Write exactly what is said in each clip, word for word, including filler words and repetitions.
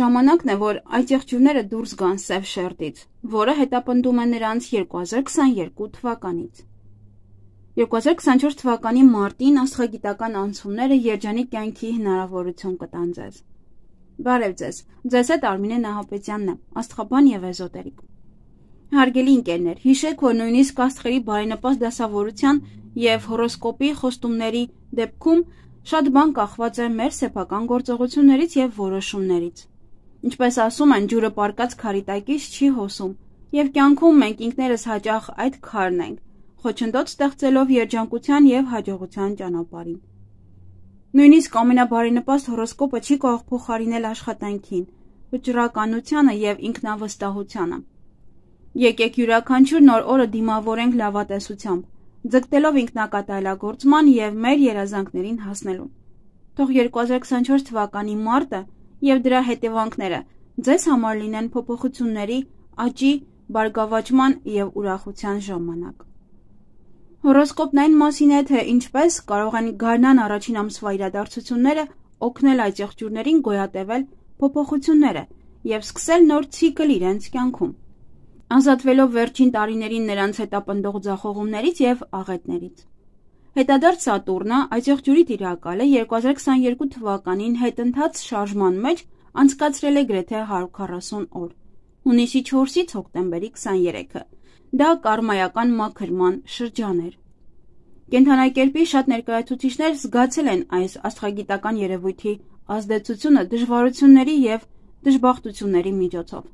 ժամանակն է, որ այդ եղջյուրները դուրս գան սև շերտից, որը հետապնդում է նրանց երկու հազար քսաներկու թվականից։ երկու հազար քսանչորս թվականի մարտին աստղագիտական անցումները երջանիկ կյանքի հնարավորություն կտան ձեզ։ Բարև ձեզ, ձեզ հետ Արմինե Նահապետյանն է, աստղաբան եւ էզոտերիկ։ Հարգելի ընկերներ, հիշեք, որ նույնիսկ աստղերի բարենպաստ դասավորության եւ հորոսկոպի խոստումների դեպքում շատ բան կախված է մեր սեփական գործողություններից եւ որոշումներից։ Ինչպես ասում են, ջուրը պարկած քարի տակից չի հոսում, եւ կյանքում մենք ինքներս հաճախ այդ քարն ենք, խոչընդոտ ստեղծելով երջանկության եւ հաջողության ճանապարհին։ Նույնիսկ ամենաբարենպաստ հորոսկոպը չի կարող փոխարինել աշխատանքին, վճռականությանը եւ ինքնավստահությանը։ Եկեք յուրաքանչյուր նոր օրը դիմավորենք լավատեսությամբ, ձգտելով ինքնակատարելագործման եւ մեր երազանքներին հասնելուն։ Թող երկու հազար քսանչորս թվականի մարտը եւ դրա հետևանքները ձեզ համար լինեն փոփոխությունների, աճի, բարգավաճման եւ ուրախության ժամանակ։ Հորոսկոպն այն մասին է, թե ինչպես կարող են գարնան առաջին ամսվա իրադարձությունները օգնել այդ եղջյուրներին գոյատևել փոփոխությունները եւ սկսել նոր ցիկլ իրենց կյանքում, ազատվելով վերջին տարիներին նրանց հետապնդող ձախողումներից եւ աղետներից։ Հետադարձ Սատուրնը այդ եղջյուրի տիրակալը երկու հազար քսաներկու թվականին հետընթաց շարժման մեջ անցկացրել է գրեթե հարյուր քառասուն օր, հունիսի չորսից հոկտեմբերի քսաներեքը։ Դա կարմայական մաքրման շրջան էր։ Կենդանակերպի շատ ներկայացուցիչներ զգացել են այս աստղագիտական երևույթի ազդեցությունը դժվարությունների եւ դժբախտությունների միջոցով։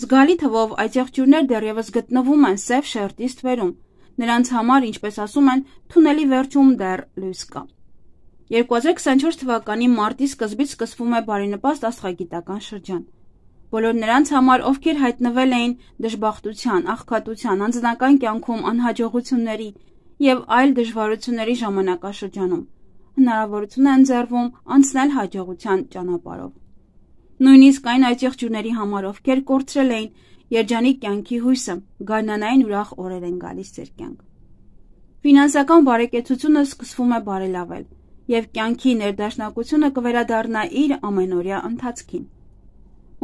Զգալի թվով այդ եղջյուրներ դեռևս գտնվում են սև շերտի ստվերում, նրանց համար, ինչպես ասում են, թունելի վերջում դեռ լույս կա։ երկու հազար քսանչորս թվականի մարտի սկզբից սկսվում է բարենպաստ աստղագիտական շրջան։ Բոլոր նրանց համար, ովքեր հայտնվել էին դժբախտության, աղքատության, անձնական կյանքում անհաջողությունների եւ այլ դժվարությունների ժամանակաշրջանում, հնարավորություն է ընձեռվում անցնել հաջողության ճանապարհով։ Նույնիսկ այն այդ եղջյուրների համար, ովքեր կորցրել էին երջանիկ կյանքի հույսը, գարնանային ուրախ օրեր են գալիս ձեր կյանք։ Ֆինանսական բարեկեցությունը սկսվում է բարելավել եւ կյանքի ներդաշնակությունը կվերադառնա իր ամենօրյա ընթացքին։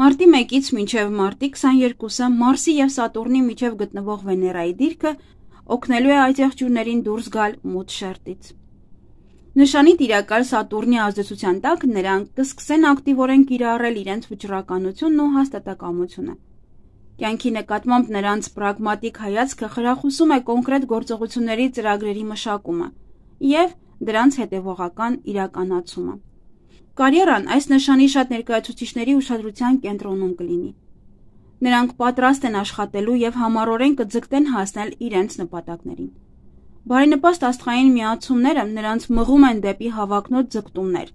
Մարտի մեկից մինչև մարտի քսաներկուսը Մարսի եւ Սատուրնի միջև գտնվող Վեներայի դիրքը օգնելու է այդ եղջյուրներին դուրս գալ մութ շերտից։ Նշանի տիրակալ Սատուրնի ազդեցության տակ նրանք կսկսեն ակտիվորեն կիրառել իրենց վճռականությունն ու հաստատակամությունը։ Կյանքի նկատմամբ նրանց պրագմատիկ հայացքը խրախուսում է կոնկրետ գործողությունների ծրագրերի մշակումը եւ դրանց հետեւողական իրականացումը։ Կարիերան այս նշանի շատ ներկայացուցիչների ուշադրության կենտրոնում կլինի։ Նրանք պատրաստ են աշխատելու եւ համառորեն կձգտեն հասնել իրենց նպատակներին։ Բարենպաստ աստղային միացումները նրանց մղում են դեպի հավակնոտ ձգտումներ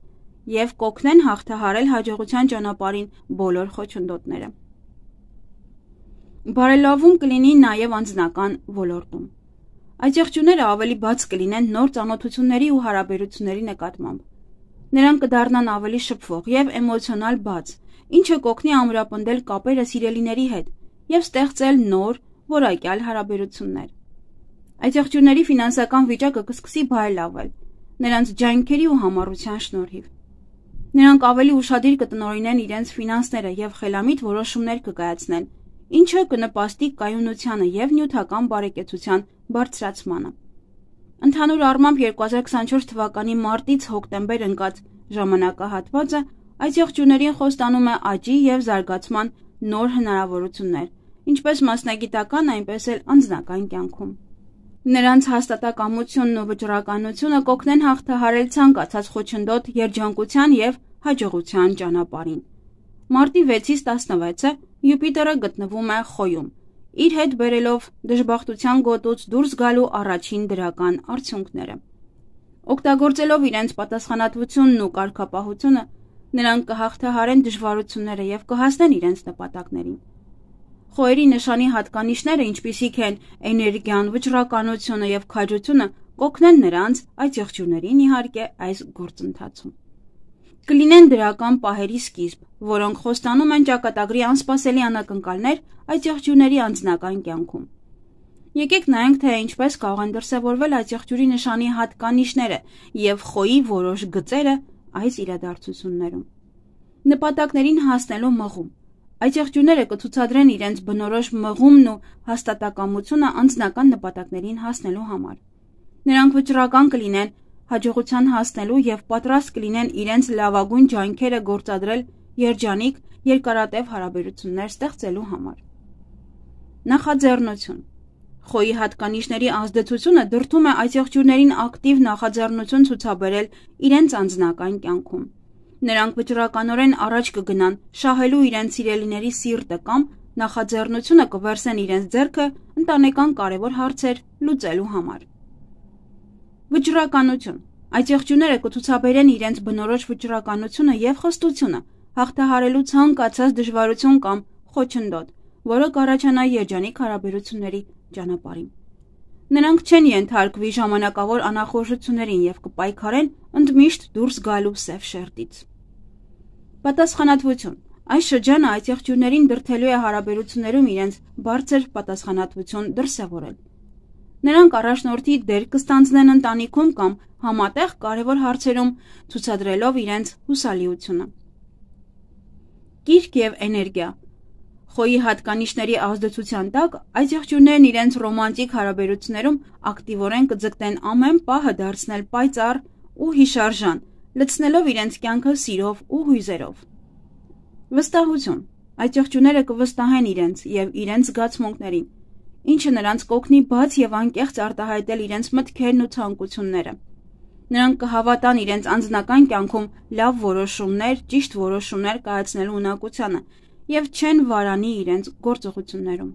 եւ կօգնեն հաղթահարել հաջողության ճանապարհին բոլոր խոչընդոտները։ Բարելավում կլինի նաեւ անձնական ոլորտում։ Այդ եղջյուրները ավելի բաց կլինեն նոր ծանոթությունների ու հարաբերությունների նկատմամբ։ Նրանք կդառնան ավելի շփվող եւ էմոցիոնալ բաց, ինչը կօգնի ամրապնդել կապերը սիրելիների հետ եւ ստեղծել նոր, որակյալ հարաբերություններ։ Այդ եղջյուրների ֆինանսական վիճակը կսկսի բարելավել նրանց ջանքերի ու համառության շնորհիվ։ Նրանք ավելի ուշադիր կտնօրինեն իրենց ֆինանսները եւ խելամիտ որոշումներ կկայացնեն, ինչը կնպաստի կայունությանը եւ նյութական բարեկեցության բարձրացմանը։ Ընդհանուր առմամբ երկու հազար քսանչորս թվականի մարտից հոկտեմբեր ընկած ժամանակահատվածը այդ եղջյուրներին խոստանում է աճի եւ զարգացման նոր հնարավորություններ, ինչպես մասնագիտական, այնպես էլ անձնական կյանքում։ Նրանց հաստատակամությունն ու վճռականությունը կօգնեն հաղթահարել ցանկացած խոչընդոտ երջանկության եւ հաջողության ճանապարհին։ Մարտի վեցից տասնվեցը Յուպիտերը գտնվում է Խոյում, իր հետ բերելով դժբախտության գոտուց դուրս գալու առաջին դրական արդյունքները։ Օգտագործելով իրենց պատասխանատվությունն ու կարգապահությունը, նրանք կհաղթահարեն դժվարությունները եւ կհասնեն իրենց նպատակներին։ Խոյերի նշանի հատկանիշները, ինչպիսիք են էներգիան, վճռականությունը եւ քաջությունը, կօգնեն նրանց այդ եղջյուրներին իհարկե այս գործընթացում։ Կլինեն դրական պահերի սկիզբ, որոնք խոստանում են ճակատագրի անսպասելի անակնկալներ այդ եղջյուրների անձնական կյանքում։ Եկեք նայենք, թե ինչպես կարող են դրսևորվել այդ եղջյուրի նշանի հատկանիշները եւ Խոյի որոշ գծերը այս իրադարձություններում։ Նպատակներին հասնելու մղում։ Այդ եղջյուրները կցուցադրեն իրենց բնորոշ մղումն ու հաստատակամությունը անձնական նպատակներին հասնելու համար։ Նրանք վճռական կլինեն հաջողության հասնելու և պատրաստ կլինեն իրենց լավագույն ջանքերը գործադրել երջանիկ, երկարատև հարաբերություններ ստեղծելու համար։ Նախաձեռնություն։ Խոյի հատկանիշների ազդեցությունը դրդում է այդ եղջյուրներին ակտիվ նախաձեռնություն ցուցաբերել իրենց անձնական կյանքում։ Նրանք վճռականորեն առաջ կգնան շահելու իրենց սիրելիների սիրտը կամ նախաձեռնությունը կվերցնեն իրենց ձեռքը ընտանեկան կարևոր հարցեր լուծելու համար։ Վճռականություն։ Այդ եղջյուրները կցուցաբերեն իրենց բնորոշ վճռականությունը և խստությունը հաղթահարելու ցանկացած դժվարություն կամ խոչընդոտ, որը կառաջանա երջանիկ հարաբերությունների ճանապարհին։ Նրանք չեն ենթարկվի ժամանակավոր անախորժություններին և կպայքարեն ընդմիշտ դուրս գալու սև շերտից։ Պատասխանատվություն։ Այս շրջանը այդ եղջյուրներին դրդելու է հարաբերություններում իրենց բարձր պատասխանատվություն դրսևորել։ Նրանք առաջնորդի դեր կստանձնեն ընտանիքում կամ համատեղ կարևոր հարցերում, ցուցադրելով իրենց հուսալիությունը։ Կիրք և էներգիա։ Խոյի հատկանիշների ազդեցության տակ այդ եղջյուրներն իրենց ռոմանտիկ հարաբերություններում ակտիվորեն կձգտեն ամեն պահը դարձնել պայծառ ու հիշարժան, լցնելով իրենց կյանքը սիրով ու հույզերով։ Վստահություն։ Այդ եղջյուրները կվստահեն իրենց և իրենց զգացմունքներին, ինչը նրանց կօգնի բաց և անկեղծ արտահայտել իրենց մտքերն ու ցանկությունները։ Նրանք կհավատան իրենց անձնական կյանքում լավ որոշումներ, ճիշտ որոշումներ կայացնելու ունակությանը և չեն վարանի իրենց գործողություններում։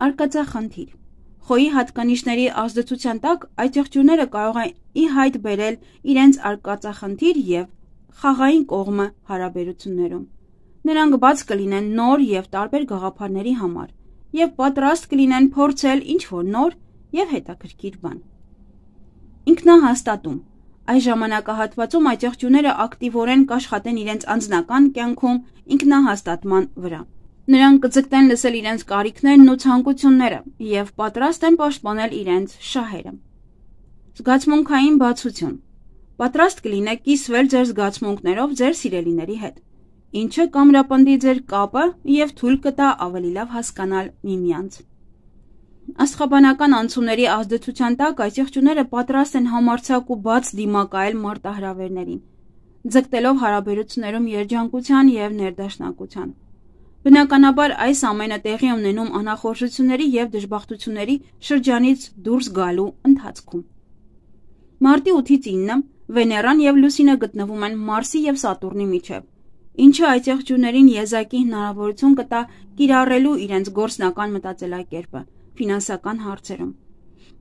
Արկածախնդիր։ Խոյի հատկանիշների ազդեցության տակ այդ եղջյուրները կարող են ի հայտ բերել իրենց արկածախնդիր և խաղային կողմը հարաբերություններում։ Նրանք բաց կլինեն նոր և տարբեր գաղափարների համար և պատրաստ կլինեն փորձել ինչ-որ նոր և հետաքրքիր բան։ Ինքնահաստատում։ Այս ժամանակահատվածում այդ եղջյուրները ակտիվորեն կաշխատեն իրենց անձնական կյանքում ինքնահաստատման վրա։ Նրանք կձգտեն լսել իրենց կարիքներն ու ցանկությունները և պատրաստ են պաշտպանել իրենց շահերը։ Զգացմունքային բացություն։ Պատրաստ կլինեք կիսվել ձեր զգացմունքներով ձեր սիրելիների հետ, ինչը կամրապնդի ձեր կապը և թույլ կտա ավելի լավ հասկանալ միմյանց։ Աստղաբանական անցումների ազդեցության տակ այդ եղջյուրները պատրաստ են համարձակ ու բաց դիմակայել մարտահրավերներին, ձգտելով հարաբերություններում երջանկության և ներդաշնակության։ Բնականաբար այս ամենը տեղի ունենում անախորժությունների և դժբախտությունների շրջանից դուրս գալու ընթացքում։ Մարտի ութից ինը Վեներան և Լուսինը գտնվում են Մարսի և Սատուրնի միջև, ինչը այդ եղջյուրներին եզակի հնարավորություն կտա կիրառելու իրենց գործնական մտածելակերպը ֆինանսական հարցերում։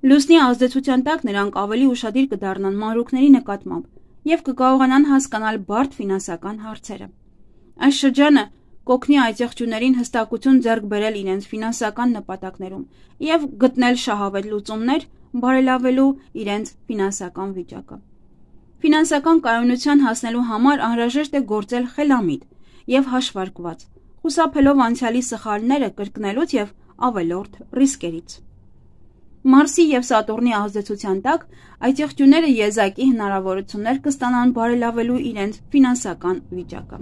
Լուսնի ազդեցության տակ նրանք ավելի ուշադիր կդառնան մանրուքների նկատմամբ և կկարողանան հասկանալ բարդ ֆինանսական հարցերը։ Այս շրջանը կօգնի այդ եղջյուրներին հստակություն ձեռք բերել իրենց ֆինանսական նպատակներում և գտնել շահավետ լուծումներ, բարելավելու իրենց ֆինանսական վիճակը։ Ֆինանսական կայունության հասնելու համար անհրաժեշտ է գործել խելամիտ և հաշվարկված, խուսափելով անցյալի սխալները կրկնելուց և ավելորդ ռիսկերից։ Մարսի և Սատուրնի ազդեցության տակ այդ եղջյուրները եզակի հնարավորություններ կստանան բարելավելու իրենց ֆինանսական վիճակը։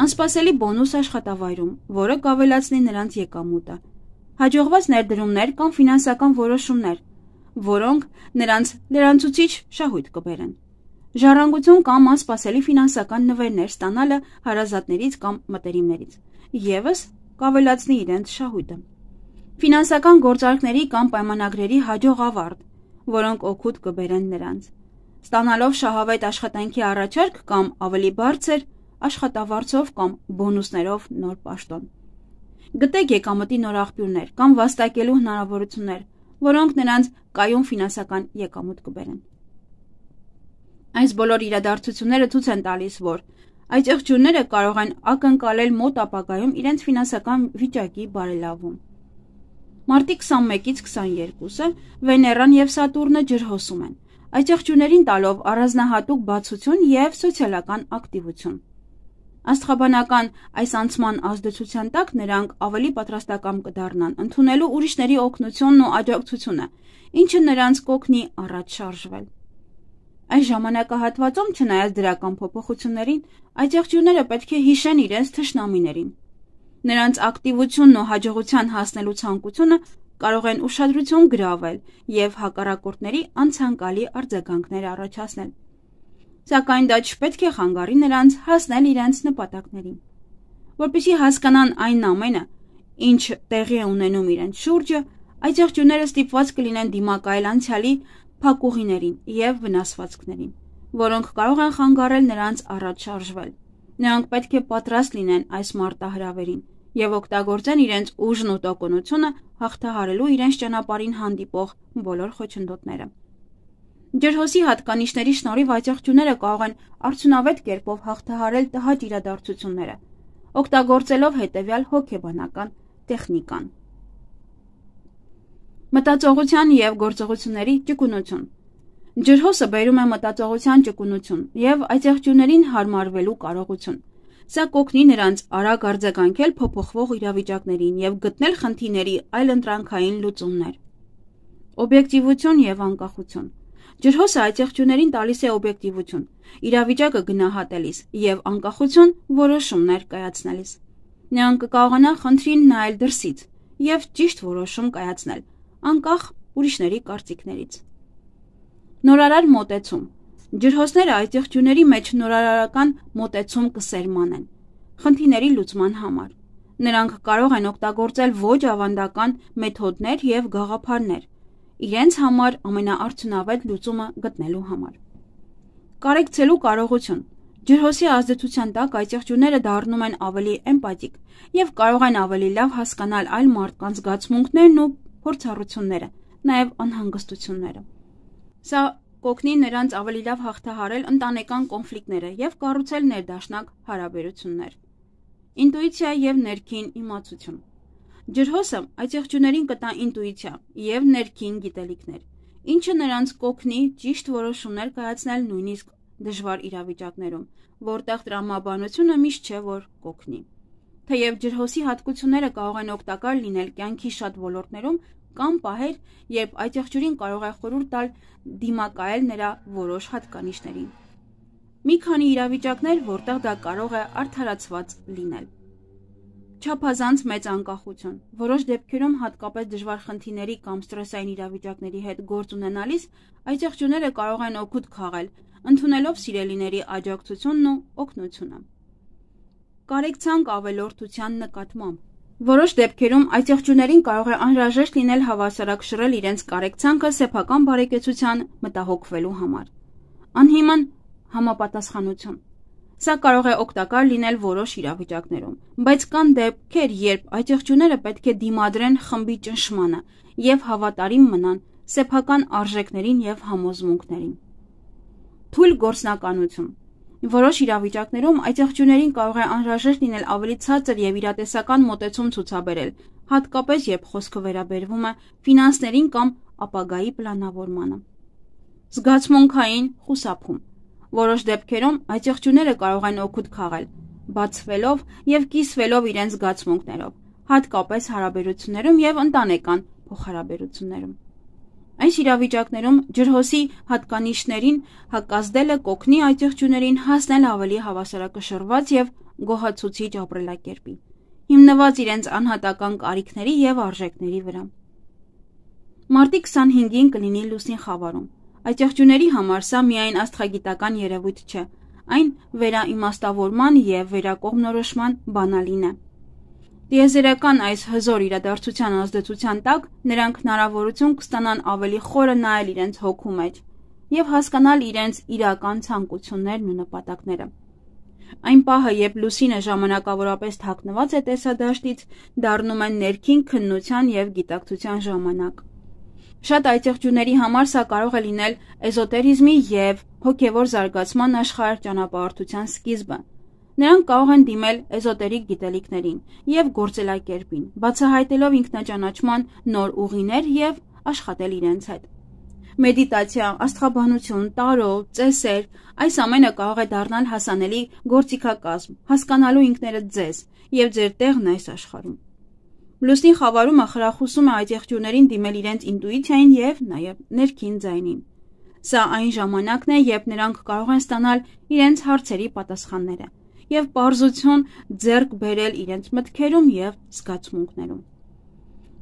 Անսպասելի բոնուս աշխատավայրում, որը կավելացնի նրանց եկամուտը, հաջողված ներդրումներ կամ ֆինանսական որոշումներ, որոնք նրանց լրանցուցիչ շահույթ կբերեն։ Ժառանգություն կամ անսպասելի ֆինանսական նվերներ ստանալը հարազատներից կամ մտերիմներից ևս կավելացնի իրենց շահույթը։ Ֆինանսական գործարքների կամ պայմանագրերի հաջող ավարտ, որոնք օգուտ կբերեն նրանց, ստանալով շահավետ աշխատանքի առաջարկ կամ ավելի բարձր աշխատավարձով կամ բոնուսներով նոր պաշտոն։ Գտեք եկամտի նոր աղբյուրներ կամ վաստակելու հնարավորություններ, որոնք նրանց կայուն ֆինանսական եկամուտ կբերեն։ Այս բոլոր իրադարձությունները ցույց են տալիս, որ այդ եղջյուրները կարող են ակնկալել մոտ ապագայում իրենց ֆինանսական վիճակի բարելավում։ Մարտի քսանմեկից քսաներկուսը Վեներան և Սատուրնը ջրհոսում են, այդ եղջյուրներին տալով առանձնահատուկ բացություն և սոցիալական ակտիվություն։ Աստղաբանական այս անցման ազդեցության տակ նրանք ավելի պատրաստակամ կդառնան ընդունելու ուրիշների օգնությունն ու աջակցությունը, ինչը նրանց կօգնի առաջ շարժվել։ Այս ժամանակահատվածում, չնայած դրական փոփոխություններին, այծեղջյուրները պետք է հիշեն իրենց թշնամիներին։ Նրանց ակտիվությունն ու հաջողության հասնելու ցանկությունը կարող են ուշադրություն գրավել և հակառակորդների անցանկալի արձագանքներ առաջացնել։ Սակայն դա չպետք է խանգարի նրանց հասնել իրենց նպատակներին։ Որպեսզի հասկանան այն ամենը, ինչ տեղի է ունենում իրենց շուրջը, այծեղջյուրները ստիպված կլինեն դիմակայել անցյալի փակուղիներին և վնասվածքներին, որոնք կարող են խանգարել նրանց առաջ շարժվել։ Նրանք պետք է պատրաստ լինեն այս մարտահրավերին և օգտագործեն իրենց ուժն ու տոկունությունը հաղթահարելու իրենց ճանապարհին հանդիպող բոլոր խոչընդոտները։ Ջրհոսի հատկանիշների շնորհիվ այծեղջյուրները կարող են արդյունավետ կերպով հաղթահարել տհաճ իրադարձությունները, օգտագործելով հետևյալ հոգեբանական տեխնիկան։ Մտածողության և գործողությունների ճկունություն։ Ջրհոսը բերում է մտածողության ճկունություն և այծեղջյուրներին հարմարվելու կարողություն։ Սա կօգնի նրանց արագ արձագանքել փոփոխվող իրավիճակներին և գտնել խնդիրների այլընտրանքային լուծումներ։ Օբյեկտիվություն և անկախություն։ Ջրհոսը այծեղջյուրներին տալիս է օբյեկտիվություն, իրավիճակը գնահատելիս և անկախություն որոշումներ կայացնելիս։ Նրանք կկարողանան խնդրին նայել դրսից և ճիշտ որոշում կայացնել, անկախ ուրիշների կարծիքներից։ Նորարար մոտեցում։ Ջրհոսները այծեղջյուրների մեջ նորարարական մոտեցում կսերմանեն խնդիրների լուծման համար։ Նրանք կարող են օգտագործել ոչ ավանդական մեթոդներ և գաղափարներ իրենց համար ամենաարդյունավետ լուծումը գտնելու համար։ Կարեկցելու կարողություն։ Ջրհոսի ազդեցության տակ այծեղջյուրները դառնում են ավելի էմպաթիկ և կարող են ավելի լավ հասկանալ այլ մարդկանց զգացմունքներն ու փորձառությունները, նաև անհանգստությունները։ Սա կօգնի նրանց ավելի լավ հաղթահարել ընտանեկան կոնֆլիկտները և կառուցել ներդաշնակ հարաբերություններ։ Ինտուիցիա և ներքին իմացություն։ Ջրհոսը այծեղջյուրներին կտա ինտուիցիա և ներքին գիտելիքներ, ինչը նրանց կօգնի ճիշտ որոշումներ կայացնել նույնիսկ դժվար իրավիճակներում, որտեղ տրամաբանությունը միշտ չէ, որ կօգնի։ Թեև ջրհոսի հատկությունները կարող են օգտակար լինել կյանքի շատ ոլորտներում, կան պահեր, երբ այծեղջյուրին կարող է խորհուրդ տալ դիմակայել նրա որոշ հատկանիշներին։ Մի քանի իրավիճակներ, որտեղ դա կարող է արդարացված լինել։ Չափազանց մեծ անկախություն։ Որոշ դեպքերում, հատկապես դժվար խնդիրների կամ սթրեսային իրավիճակների հետ գործ ունենալիս, այծեղջյուրները կարող են օգուտ քաղել, ընդունելով սիրելիների աջակցությունն ու օգնությունը։ Կարեկցանք ավելորդության նկատմամբ։ Որոշ դեպքերում այծեղջյուրներին կարող է անհրաժեշտ լինել հավասարակշռել իրենց կարեկցանքը սեփական բարեկեցության մտահոգվելու համար։ Անհիմն համապատասխանություն։ Սա կարող է օգտակար լինել որոշ իրավիճակներում, բայց կան դեպքեր, երբ այծեղջյուրները պետք է դիմադրեն խմբի ճնշմանը և հավատարիմ մնան սեփական արժեքներին և համոզմունքներին։ Թույլ գործնականություն։ Որոշ իրավիճակներում այծեղջյուրներին կարող է անհրաժեշտ լինել ավելի ցածր և իրատեսական մոտեցում ցուցաբերել, հատկապես երբ խոսքը վերաբերվում է ֆինանսներին կամ ապագայի պլանավորմանը։ Զգացմունքային խուսափում։ Որոշ դեպքերում այծեղջյուրները կարող են օգուտ քաղել, բացվելով և կիսվելով իրենց զգացմունքներով, հատկապես հարաբերություններում և ընտանեկան փոխհարաբերություններում։ Այս իրավիճակներում ջրհոսի հատկանիշներին հակազդելը կօգնի այծեղջյուրներին հասնել ավելի հավասարակշռված և գոհացուցիչ ապրելակերպի, հիմնված իրենց անհատական կարիքների և արժեքների վրա։ Մարտի քսանհինգին կլինի լուսնի խավարում։ Այծեղջյուրների համար սա միայն աստղագիտական երևույթ չէ, այն վերաիմաստավորման և վերակողմնորոշման բանալին է։ Տիեզերական այս հզոր իրադարձության ազդեցության տակ նրանք հնարավորություն կստանան ավելի խորը նայել իրենց հոգու մեջ և հասկանալ իրենց իրական ցանկություններն ու նպատակները։ Այն պահը, երբ լուսինը ժամանակավորապես թաքնված է տեսադաշտից, դառնում է ներքին քննության և գիտակցության ժամանակ։ Շատ այծեղջյուրների համար սա կարող է լինել էզոտերիզմի և հոգևոր զարգացման աշխարհ-ճանապարհորդության սկիզբը։ Նրանք կարող են դիմել էզոտերիկ գիտելիքներին և գործելակերպին, բացահայտելով ինքնաճանաչման նոր ուղիներ և աշխատել իրենց հետ։ Մեդիտացիա, աստղաբանություն, տարո, ծեսեր, այս ամենը կարող է դառնալ հասանելի գործիքակազմ, հասկանալու ինքներդ ձեզ և ձեր տեղն այս աշխարհում։ Լուսնի խավարումը խրախուսում է այծեղջյուրներին դիմել իրենց ինտուիցիային և նաև ներքին ձայնին։ Սա այն ժամանակն է, երբ նրանք կարող են ստանալ իրենց հարցերի պատասխանները և պարզություն ձեռք բերել իրենց մտքերում և զգացմունքներում։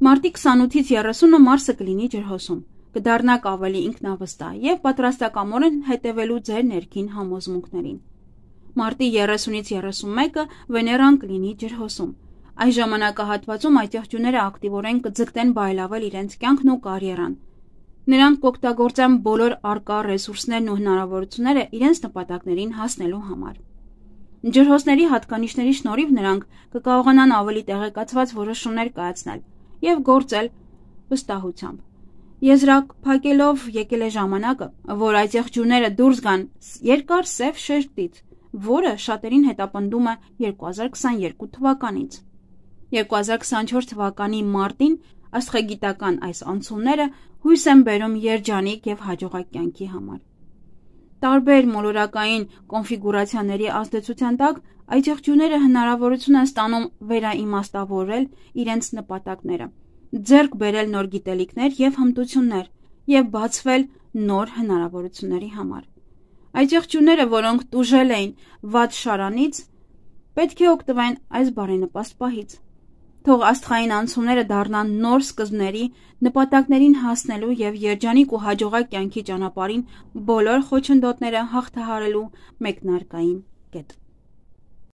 Մարտի քսանութից երեսունը Մարսը կլինի ջրհոսում, կդառնաք ավելի ինքնավստահ և պատրաստակամորեն հետևելու ձեր ներքին համոզմունքներին։ Մարտի երեսունից երեսունմեկը Վեներան կլինի ջրհոսում։ Այս ժամանակահատվածում այդ եղջյուրները ակտիվորեն կձգտեն բարելավել իրենց կյանքն ու կարիերան։ Նրանք կօգտագործեն բոլոր առկա ռեսուրսներն ու հնարավորությունները իրենց նպատակներին հասնելու համար։ Ջրհոսների հատկանիշների շնորհիվ նրանք կկարողանան ավելի տեղեկացված որոշումներ կայացնել և գործել վստահությամբ։ Եզրակ փակելով եկել է ժամանակը, որ այդ եղջյուրները դուրս գան երկար սև շերտից, որը շատերին հետապնդում է երկու հազար քսաներկու թվականից։ երկու հազար քսանչորս թվականի մարտին աստղագիտական այս անցումները հույս են բերում երջանիկ և հաջողակ կյանքի համար։ Տարբեր մոլորակային կոնֆիգուրացիաների ազդեցության տակ այդ եղջյուրները հնարավորություն են ստանում վերաիմաստավորել իրենց նպատակները, ձեռք բերել նոր գիտելիքներ և հմտություններ և բացվել նոր հնարավորությունների համար։ Այդ եղջյուրները, որոնք տուժել էին վատ շարանից, պետք է օգտվեն այս բարենպաստ պահից։ Թող աստղային անցումները դառնան նոր սկզբների, նպատակներին հասնելու և երջանիկ ու հաջողակ կյանքի ճանապարհին բոլոր խոչընդոտները հաղթահարելու մեկնարկային կետ։